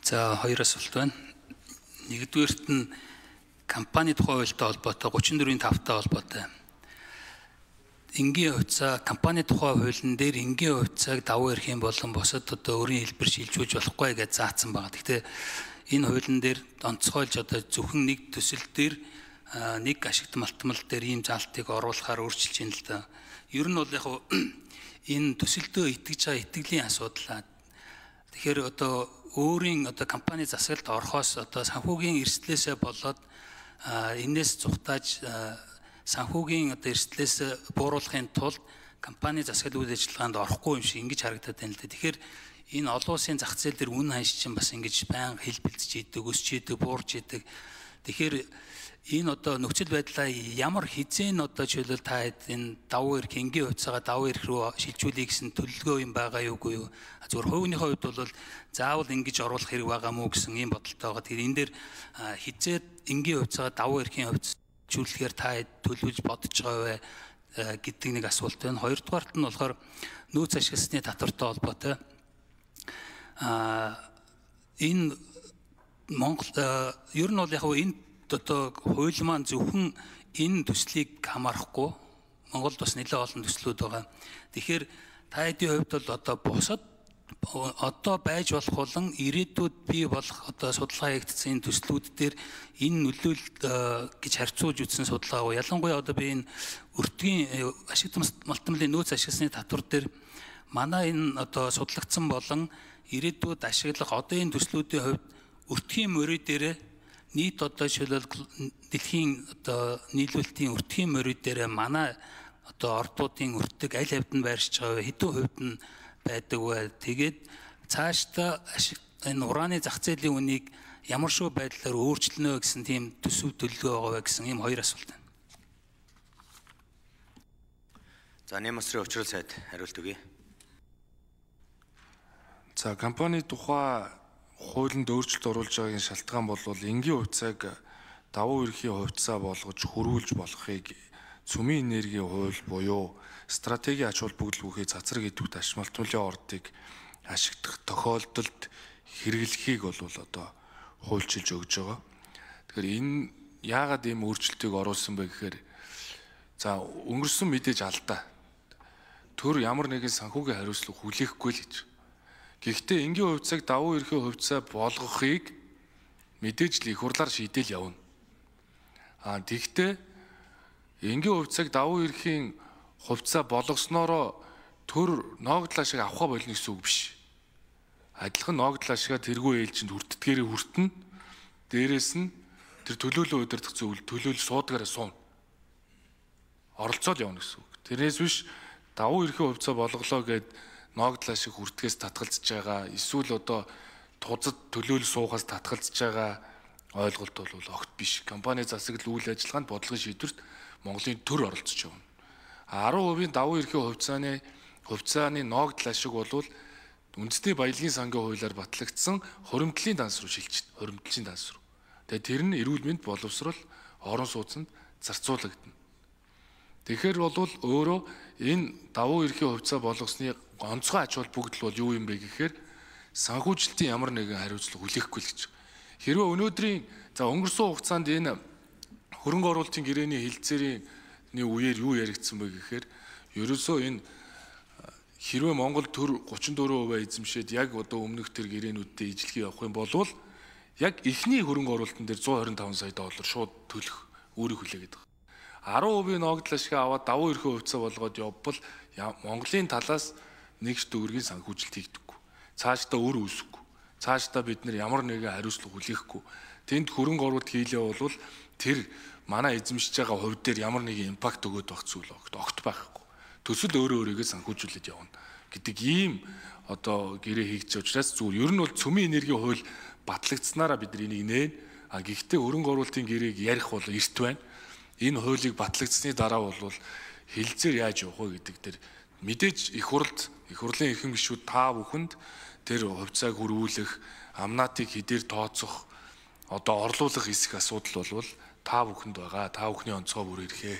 За хоёр асуулт байна. Нэгдүгээрт нь компани тухай хуультай холбоотой 34.5-тай холбоотой. Энгийн хувьцаа компани тухай хуулийн дээр энгийн хувьцааг давуу эрх юм болон босод одоо өөрийн хэлбэр шилжүүлж болохгүй гэж заасан байна. Гэхдээ энэ хуулийн дээр онцгойлж одоо зөвхөн нэг төсөл дээр нэг ашигт малтмал дээр ийм заалтыг оруулахаар өөрчилж байна л да. Ер нь бол яг энэ төсөлдөө итгэж байгаа итгэлийн асуудал. Тэгэхээр одоо өөрийн одоо компани засаглалд орохоос одоо санхүүгийн эрсдлээсээ болоод энэс зүхтааж санхүүгийн одоо эрсдлээс бууруулахын тулд компани засаглал үйл ажиллагаанд орохгүй юм шиг ингэж харагдаад байна л да. Тэгэхээр энэ олон улсын зах зээл дээр үн ханш чинь бас ингэж байнга хил бэлдэж идэг, өсч идэг, буурч идэг. Тэгэхээр энэ одоо нөхцөл байдлаа ямар хизээ одоо жишээлбэл та энэ давуу эрх энгийн хувьцаагаа давуу эрх рүү шилжүүлэх гэсэн төлөвлөгөө юм байгаа юугүй юу? Зөвхөн хувийнхаа хувьд бол заавал ингэж оруулах хэрэг байгаа мó гэсэн ийм бодолтой байгаа. Тэгэхээр энэ дээр хизээ энгийн хувьцаагаа давуу эрхийн хувьд шилжүүлэхээр та төлөвлөж бодож байгаа вэ гэдэг нэг асуулт байна. Хоёрдугаарт нь болохоор нөөц ашигласны татвартай холбоотой. Энэ Монгол ер нь бол яг энэ одоо хууль маань зөвхөн энэ төслийг хамаарахгүй Монголд бас нэлээд олон төслүүд байгаа. Тэгэхээр та хэдийн хувьд бол одоо бусад одоо байж болох болон ирээдүйд бий болох одоо судалгаа хийгдсэн төслүүд дээр энэ нөлөөлөл гэж харьцуулж үзсэн судалгаа. Ялангуяа одоо би энэ өртгийн ашигт малтмалын нөөц ашигласны татвар дээр манай энэ одоо судлагдсан болон ирээдүйд ашиглах одоо энэ төслүүдийн хувьд өртгийн мөрөө дээр нийт одоо жишээлбэл дэлхийн одоо нийлүүлэлтийн өртгийн мөрөө дээр манай одоо ордуудын өртөг аль хэвд нь байршиж байгаа хэдэн хувьд нь байдаг вэ? Тэгээд цаашдаа энэ ураны зах зээлийн үнийг ямар шүү байдлаар өөрчлөнө гэсэн тийм төсөв төлөвлөгөө байгаа вэ гэсэн ийм хоёр асуулт байна. За Нэмасрын Учрал сайд хариулт өгье. За компани тухай хуулинд өөрчлөлт оруулж байгаагийн шалтгаан бол энгийн хувьцааг давуу эрхийн хувьцаа болгож хөрвүүлж болохыг цөмийн энергийн хууль буюу стратегийн ач холбогдол бүхий цацраг идэвхтэй аж малтмалын ордыг ашиглах тохиолдолд хэрэглэхийг бол одоо хуульчилж өгж байгаа. Тэгэхээр энэ яагаад ийм өөрчлөлтийг оруулсан бэ гэхээр за өнгөрсөн мэдээж алдаа. Төр ямар нэгэн санхүүгийн хариуцлага хүлээхгүй л гэж. Гэхдээ энгийн хувьцааг давуу эрхийн хувьцаа болгохыг мэдээж л их хурлаар шийдэл явна. Тэгвэл энгийн хувьцааг давуу эрхийн хувьцаа болгосноороо төр ногдлоо шиг авах болно гэсэн үг биш. Адилхан ногдлоо шиг тэргүй ээлжинд хүртдгээрээ хүртэн. Дээрээс нь тэр төлөөлөл удирдах зөвлөл төлөөлөл суудгаараа суuna. Оролцоод явна гэсэн үг. Тэрнээс биш давуу эрхийн хувьцаа болголоо гэд ногдлоо шиг хүртгээс татгалзаж байгаа эсвэл одоо тузад төлөөлөл суухаас татгалзаж байгаа ойлголт бол огт биш. Компани засаглал үйл ажиллагаанд бодлогын шийдвэрт Монголын төр оролцож явна. 10% давуу эрхийн хувьцааны ногдлоо шиг болвол үндэсний баялагын сангийн хуулиар батлагдсан хуримтлалын данс руу шилжиж, хуримтлалын данс руу. Тэгээд тэр нь эрүүл мэнд боловсрол орон сууцнд зарцуулагдана. Тэгэхээр бол өөрөө энэ давуу эрхийн хувьцаа болгосны онцгой ач холбогдол бол юу юм бэ гэхээр санхүүжилтийн ямар нэгэн хариуцлага хүлээхгүй л гэж. Хэрвээ өнөөдрийн за өнгөрсөн хугацаанд энэ хөрөнгө оруулалтын гэрээний хилцээрийн үеэр юу яригдсан бэ гэхээр ерөөсөө энэ хэрвээ Монгол төр 34% эзэмшээд яг одоо өмнөх тэр гэрээнүүдтэй ижлэхий явах юм бол яг эхний хөрөнгө оруулалтын дээр 125 сая доллар шууд төлөх өөрийг хүлээгээд байгаа. 10% ногдлоо шиг аваад давуу эрхийн хувьцаа болгоод явбал Монголын талаас нэгж төгрөгийн санхүүжилт хийгдэггүй. Цаашдаа өөр үүсэхгүй. Цаашдаа бид нар ямар нэгэн хариуцлага хүлээхгүй. Тэнд хөрөнгө оруулалт хийлээ бол тэр манай эзэмшиж байгаа хувь дээр ямар нэгэн импакт өгөөд байх зүйл огт байхгүй. Төсөл өөрөөрөө санхүүжүүлээд явна гэдэг ийм одоо гэрээ хийгдэж учраас зүгээр ер нь бол цөмийн энергийн хууль батлагдсанараа бид нар энийг нээн. Гэхдээ хөрөнгө оруулалтын гэрээг ярих бол эрт байна. Энэ хуулийг батлагдсны дараа бол хилцээр яаж явах вэ гэдэг дээр мэдээж их хурлын эрхэм гишүүд та бүхэнд тэр хувьцааг хөрвүүлэх, амнаатыг хэдээр тооцох, одоо орлуулах хэсэг асуудал бол та бүхэнд байгаа. Та бүхний онцгой бүр ирэхээ.